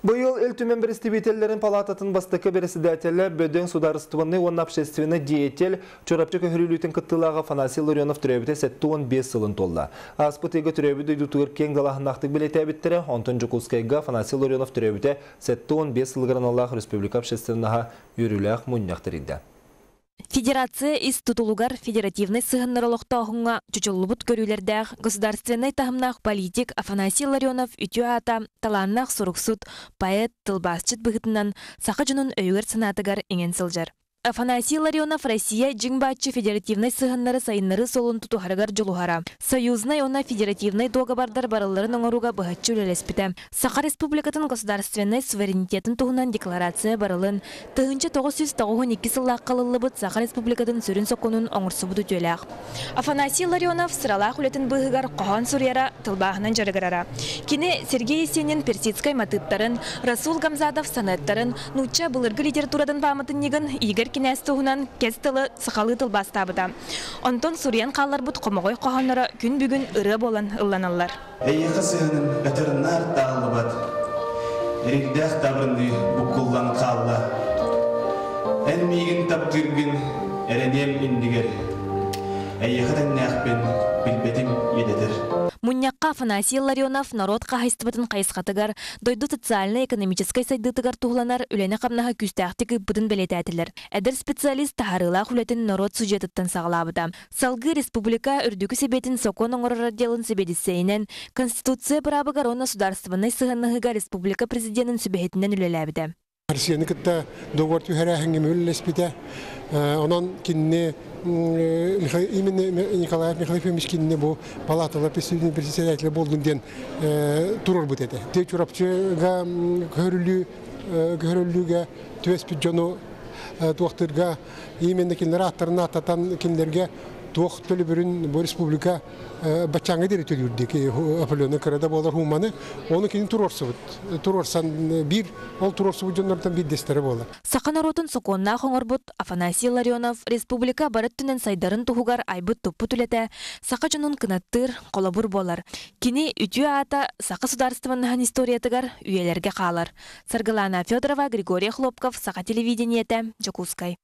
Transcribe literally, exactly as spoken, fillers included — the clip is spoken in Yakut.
Быйыл Ил Түмэн Бэрэстэбиитэллэрин палаататын бастакы бэрэссэдээтэлэ, бөдөҥ судаарыстыбаннай уонна общественнай деятель, Чурапчы көһөрүллүүтүн кыттыылааҕа Афанасий Ларионов төрөөбүтэ сэттэ уон биэс сылын туолла. Ааспыт ыйга төрөөбүт дойдутугар киэҥ далааһыннаахтык бэлиэтээбиттэрэ, онтон Дьокуускайга Афанасий Ларионов төрөөбүтэ сэттэ уон биэс сылыгар аналлаах республика общественноһа үөрүүлээх мунньах тэрийдэ. Федерация ис тутулугар федеративнай сыһыаннары олохтооһуҥҥа чочуллубут көрүүлэрдээх государственнай таһымнаах политик Афанасий Ларионов үтүө аата талааннаах суруксут, поэт, тылбаасчыт быһыытынан саха дьонун өйүгэр-санаатыгар иҥэн сылдьар. Афанасий Ларионов Россия дьиҥ-бааччы федеративнай сыһыаннары сайыннарыы суолун тутуһарыгар дьулуһара. Союзнай уонна федеративнай дуогабардар барылларын оҥорууга быһаччы үлэлэспитэ. Саха Республикатын государственнай суверенитетын туһунан декларация барылын, тыһыынча тоҕус сүүс тоҕус уон икки сыллаахха ылыллыбыт Саха Республикатын сүрүн сокуонун оҥорсубут үтүөлээх. Афанасий Ларионов сыралаах үлэтин быыһыгар хоһоон суруйара, тылбааһынан дьарыгырара. Кини Сергей Есенин персидскай матыыптарын, Расул Гамзатов сонеттарын, нуучча былыргы литературатын пааматынньыгын Игорь кинээс туһунан кэс тылы сахалыы тылбаастаабыта. Онтон суруйан хаалларбыт хомоҕой хоһоонноро күн бүгүн ырыа буолан ылланаллар. Эйиэхэ сыһыаным өтөр-наар тааллыбат, эригдээх табырыныы буккуллан хаалла. Эн миигин таптыыргын эрэниэм иннигэр, эйиэхэ тэҥнээхпин билбэтим иэдэтэр. Мунньахха Афанасий Ларионов норуот хаһаайыстыбатын хайысхатыгар, дойду социальнай-экономическай сайдыытыгар туһуланар үлэни-хамнаһы күүстээхтик ыыппытын бэлиэтээтилэр. Эдэр специалист таһаарыылаах үлэтин норуот судьуйатыттан саҕалаабыта. Салгыы республика Үрдүкү Сэбиэтин сокуон оҥорор отделын сэбиэдиссэйинэн, Конституция быраабыгар уонна судаарыстыбаннай сыһыаннаһыыга республика президенин сүбэһитинэн үлэлээбитэ. Россияны кытта договор түһэрээһиҥҥэ үлэлэспитэ. Онон кинини именно Николаев Михаил Ефимович кинини бу палаталар председателя буоллун диэн туруорбут этэ. Те Чурапчыга көһөрүллүү көһөрүллүүгэ түбэспит дьону туохтырга именно кинилэр ааттарын ааттатан кинилэргэ туох төлөбүрүн бу республика баччааҥҥа диэри төлүүрдүк определенный кыра да буолар хууманы оны кини туруорсубут туруорсан биир ол туруорсубут дьоннортон биирдэстэрэ буолар. Саха норуотун сокуоннаах оҥорбут Афанасий Ларионов республика бары өттүнэн сайдарын туһугар айбыт туппут үлэтэ саха дьонун кынаттыыр холобур буолар. Кини үтүө аата саха судаарыстыбаннаһын историятыгар үйэлэргэ хаалар. Саргылана Федорова, Григорий Хлопков, Саха телевидениетэ, Дьокуускай.